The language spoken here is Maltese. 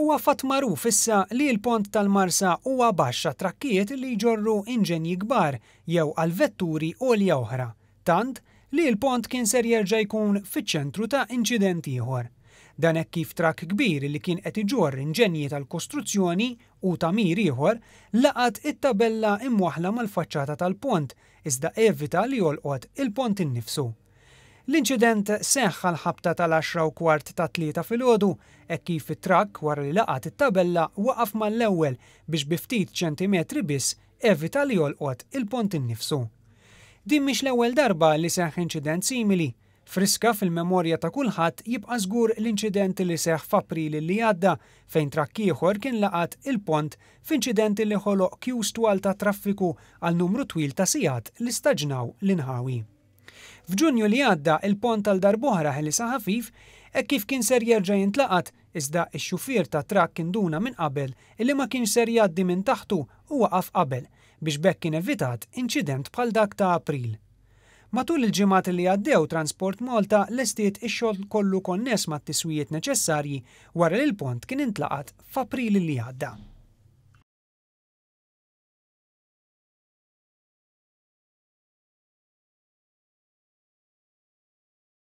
Huwa fatt magħruf issa li l-pont tal-Marsa huwa baxx għat-trakkijiet li jġorru inġenji kbar jew għal vetturi għolja oħra, tant li l-pont kien ser jerġa' jkun fiċ-ċentru ta' inċident ieħor. Dan hekk kif trakk kbir li kien qed iġorr inġenji tal-kostruzzjoni u tagħmir ieħor laqat it-tabella imwaħħla mal-faċċata tal-pont iżda evita li jolqot il-pont innifsu. L-inċident seħħ għall-ħabta tal-għaxra u kwart tat-Tlieta filgħodu hekk kif it-trakk wara li laqat it-tabella waqaf mal-ewwel biex bi ftit ċentimetri biss evita li jolqot il-pont innifsu. Din mhix l-ewwel darba li seħħ inċident simili. Friska fil-memorja ta' kulħadd jibqa' żgur l-inċident li seħħ f'April li għadda fejn trakk ieħor kien laqat il-pont f'inċident li ħoloq kjus twal ta' traffiku għal numru twil ta' sigħat li staġnaw l-inħawi. F'Ġunju li għadda, il-pont għal darb'oħra ħelisha ħafif hekk kif kien ser jerġa' jintlaqat iżda x-xufier tat-trakk induna minn qabel illi ma kienx ser jgħaddi minn taħtu u waqaf qabel biex b'hekk kien evitat inċident bħal dak ta' April. Matul il-ġimgħat li għaddew Transport Malta lestiet ix-xogħol kollu konness mat-tiswijiet neċessarji wara li l-pont kien intlaqat f'April li għadda.